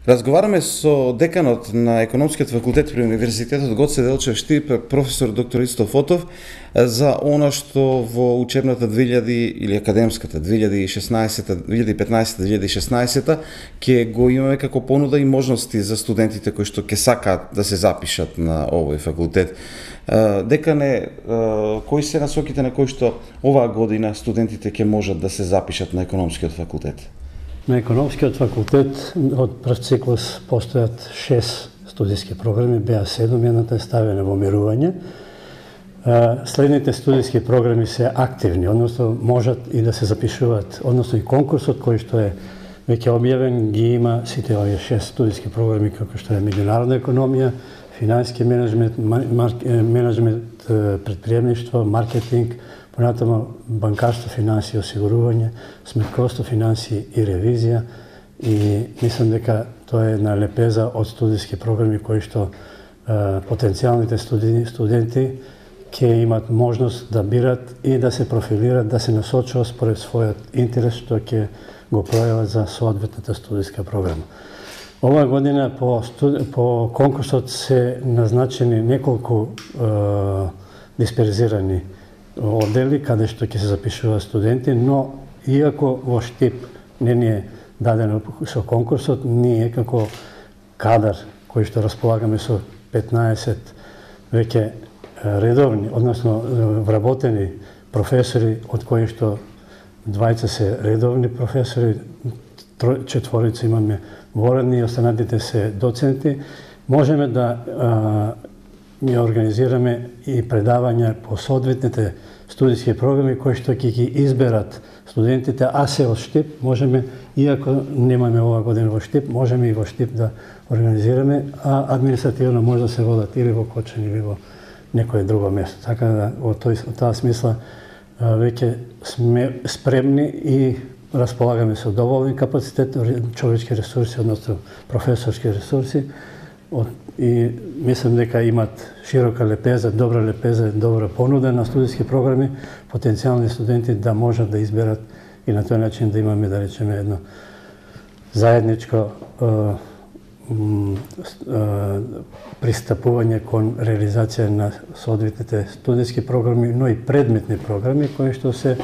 Разговараме со деканот на Економскиот факултет при Универзитетот Гоце Делчев Штип, професор доктор Исто Фотов, за она што во учебната 2000 или академската 2015-2016 ќе го имаме како понуда и можности за студентите кои што ќе сакаат да се запишат на овој факултет. Декане, кои се насоките на кои што оваа година студентите ќе можат да се запишат на Економскиот факултет? На Економскиот факултет од прв циклус постојат 6 студиски програми, беа 7, едната е ставена во мирување. Следните студиски програми се активни, односно можат и да се запишуваат, односно и конкурсот кој што е веќе објавен ги има сите овие 6 студиски програми како што е меѓународна економија, финансиски менеджмент, предприемништво, маркетинг, понатаму банкарство, финансии и осигурување, сметковство, финансии и ревизија, и мислам дека тоа е една лепеза од студиски програми кои што потенцијалните студенти ќе имат можност да бират и да се профилират, да се насочат според својот интерес што ќе го пројават за соодветната студиска програма. Оваа година по конкурсот се назначени неколку дисперзирани оддели каде што ќе се запишуваат студенти, но иако во Штип не ни е дадено со конкурсот, ние како кадар кои што располагаме со 15 веќе редовни, односно вработени професори, од кои што 20 се редовни професори, 4 имаме воредни и останатите се доценти, можеме да ја организираме и предавања по соодветните студиски програми кои што ќе ги изберат студентите, а се од Штип, можеме, иако немаме оваа година во Штип, можеме и во Штип да организираме, а административно може да се водат или во Кочани или во некое друго место. Така да, во таа смисла, веќе сме спремни и располагаме со доволен капацитет, човечки ресурси, односно професорски ресурси, и мислам дека имат широка лепеза, добра понуда на студиски програми, потенцијални студенти да можат да изберат и на тој начин да имаме, да речеме, едно заедничко пристапување кон реализација на соодветните студиски програми, но и предметни програми кои што се,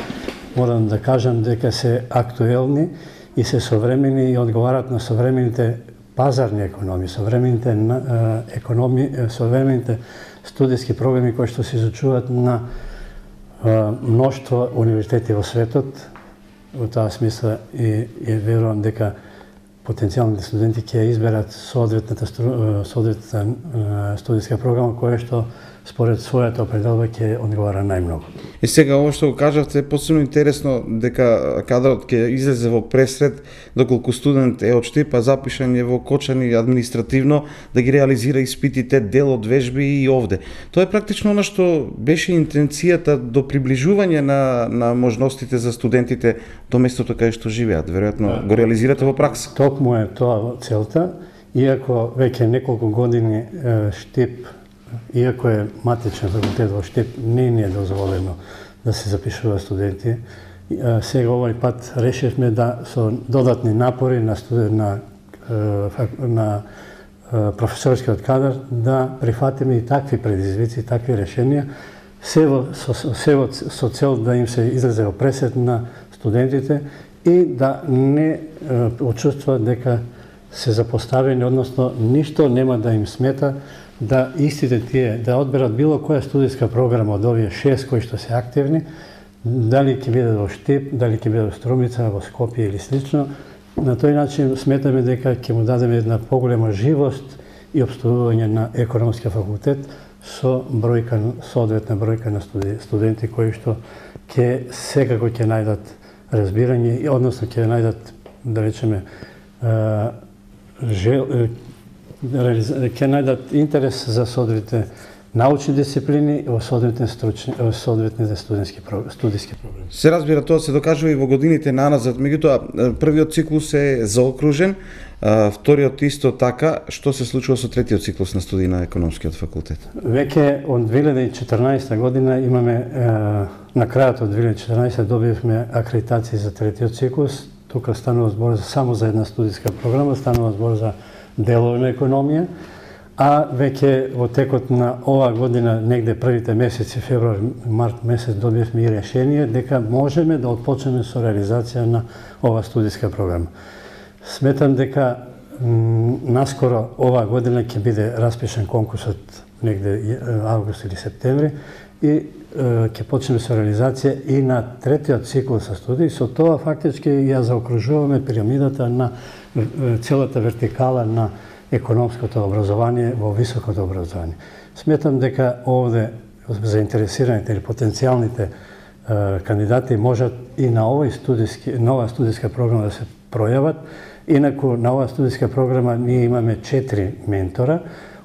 морам да кажам дека се актуелни и се современи и одговарат на современите пазарни економии, современите студиски програми кои што се изучуваат на мноштво универзитети во светот. Во таа смисла и верувам дека потенцијалните студенти ќе изберат соодветната студиска програма која што според својата определба ќе одговара најмногу. И сега ово што го кажавте е посебно интересно дека кадрот ќе излезе во пресред доколку студент е од Штип, а запишан е во Кочани административно да ги реализира испитите, дел од вежби и овде. Тоа е практично она што беше интенцијата до приближување на можностите за студентите до местото каде што живеат. Веројатно го реализирате во пракса. Токму е тоа целта, иако веќе неколку години Штип, иако е матичен факултет во Штип, не е дозволено да се запишуваат студенти. Сега овој пат решивме да со додатни напори на професорскиот кадар да прифатиме и такви предизвици, такви решенија, со цел да им се излезе во пресет на студентите и да не почувствуваат дека се запоставени, односно ништо нема да им смета да истите тие, да одберат било која студиска програма од овие 6 кои што се активни, дали ќе биде во Штип, дали ќе биде во Струмица, во Скопје или слично. На тој начин сметаме дека ќе му дадеме една поголема живост и обстојување на Економскиот факултет со соодветна бројка на студенти кои што секако ќе најдат разбирање, односно ќе најдат, да речеме, ќе најдат интерес за соодветните научни дисциплини во соодветните студиски програми. Се разбира, тоа се докажува и во годините наназад, меѓутоа првиот циклус е заокружен, вториот исто така. Што се случува со третиот циклус на студии на Економскиот факултет? Веќе од 2014 година имаме, на крајот од 2014 добивме акредитација за третиот циклус. тука станува збор само за една студиска програма, станува збор за делови на економија, а веќе во текот на оваа година, негде првите месеци, февруар, март месец, добивме и решение дека можеме да отпочнеме со реализација на оваа студиска програма. Сметам дека наскоро оваа година ќе биде распишан конкурсот негде август или септември и ќе почнеме со реализација и на третиот цикл со студии. Со тоа фактички ја заокружуваме пирамидата на целата вертикала на економското образование во високото образование. Сметам дека овде заинтересираните или потенцијалните кандидати можат и на оваа студиска програма да се пројават. Инаку на оваа студиска програма ние имаме 4 ментора,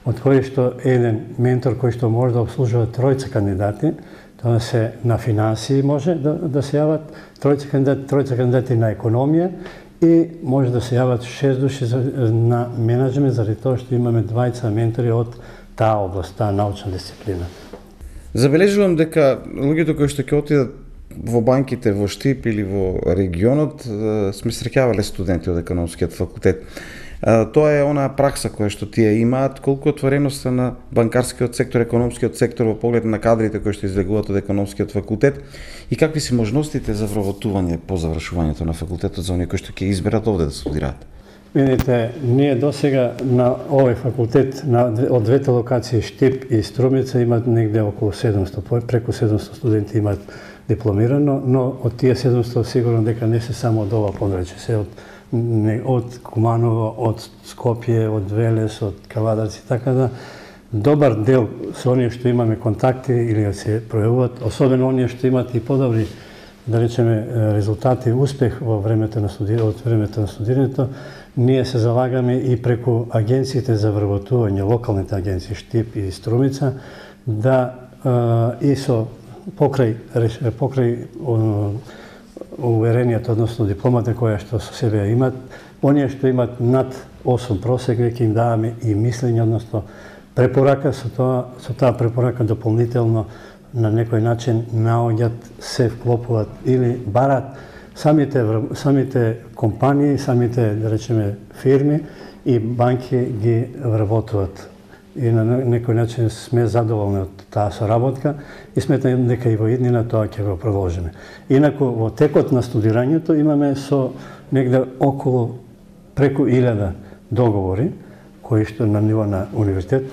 од кои што еден ментор кој што може да обслужува тројца кандидати, тоа се на финансии може да се јават тројца кандидати на економија и може да се јават 6 души на менеджмент, заради тоа што имаме 20 ментори од таа област, таа научна дисциплина. Забележувам дека луѓето кои што ќе отидат во банките во Штип или во регионот сме среќавале студенти од економскиот факултет. Тоа е онаа пракса која што тие имаат, колку отвореноста на банкарскиот сектор, економскиот сектор во поглед на кадрите кои што излегуваат од економскиот факултет и какви се можностите за вработување по завршувањето на факултетот за оние кои што ќе изберат овде да студираат? Видите, ние досега на овој факултет од двете локации Штип и Струмица имат негде околу 700, преку 700 студенти имаат дипломирано, но од тие 700 сигурно дека не се само од ова подрачје, се од Куманово, од Скопје, од Велес, од Кавадарци, така да добар дел со оние што имаме контакти или се пројавуваат, особено оние што имаат и подобри, да речеме, резултати, успех во времето на студирањето, ние се залагаме и преку агенциите за вработување, локалните агенции Штип и Струмица, да и со покрај уверенијата, односно дипломата која што со себе имат, оние што имат над 8 просек, веќе им даваме и мислење, односно препорака, со таа препорака дополнително на некој начин наоѓат, се вклопуваат или барат самите компании, самите, да речеме, фирми и банки ги вработуваат. И на некој начин сме задоволни од таа соработка и сметам дека и во иднина тоа ќе го продолжиме. Инаку во текот на студирањето имаме со негде околу преку 1000 договори кои што на ниво на универзитет,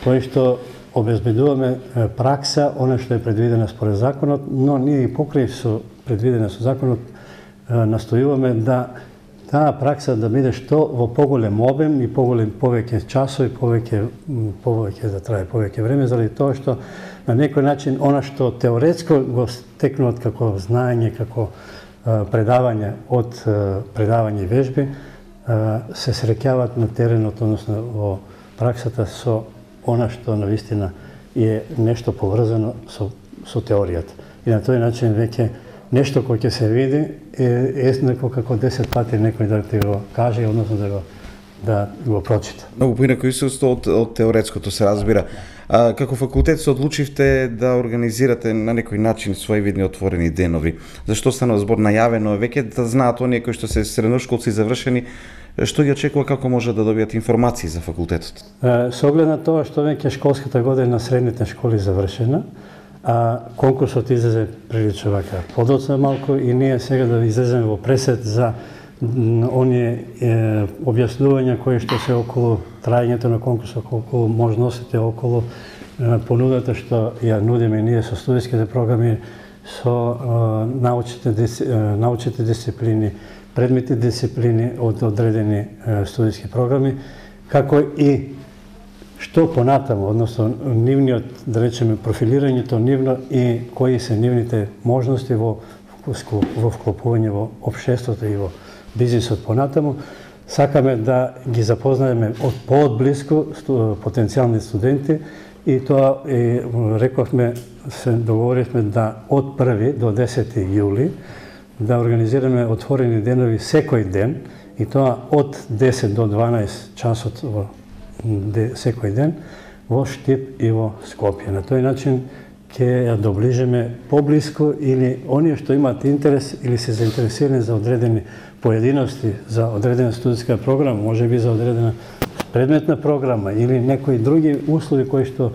кои што обезбедуваме пракса, она што е предвидена според законот, но ние и покрај со предвидена со законот настојуваме да таа пракса да биде што во поголем обем и повеќе часови, повеќе да трае повеќе време, заради тоа што на некој начин она што теоретско го стекнуваат како знаење, како предавање од предавање и вежби, се среќаваат на теренот, односно во праксата со она што навистина е нешто поврзано со теоријата. И на тој начин веќе нешто кој ќе се види е еднакво како 10 пати некој да ти го каже, односно да го прочита. Многу поинако искуство од теоретското се разбира. Како факултет се одлучивте да организирате на некој начин своји видни отворени денови. Зашто станува збор најавено веќе да знаат оние кои што се средношколци завршени што ги очекува, како може да добијат информации за факултетот? Со оглед на тоа што веќе школската година на средните школи завршена, а конкурсот излезе прилично вака подоцна малку и ние сега да излеземе во пресет за оние објаснувања кои што се околу трајањето на конкурсот, околу можностите, околу понудата што ја нудиме ние со студиските програми, со научните дисциплини, предметни дисциплини од одредени студиски програми, како и што понатаму, односно нивниот, да речеме, профилирањето нивно и кои се нивните можности во вклопување во општеството и во бизнисот понатаму. Сакаме да ги запознаеме поотблиску потенцијални студенти и тоа рековме, се договоривме да од 1 до 10 јули да организираме отворени денови секој ден и тоа од 10 до 12 часот секој ден во Штип и во Скопје. На тој начин ќе ја доближиме поблиско или оние што имаат интерес или се заинтересирани за одредени поединости, за одредена студиска програма, можеби за одредена предметна програма или некои други услови кои што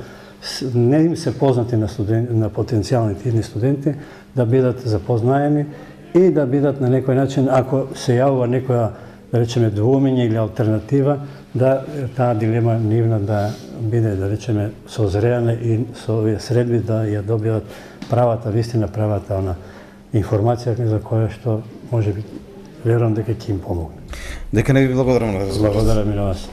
не им се познати на потенцијалните идни студенти, да бидат запознаени и да бидат на некој начин, ако се јавува некоја, да речеме, двумење или алтернатива, да таа дилема нивна да биде, да речеме, созреана и со овие средби да ја добијат правата вистина, правата она информација за која што можеби верувам дека ќе им помогне. Дека не ви благодарам на разговорот. Благодарам и на вас.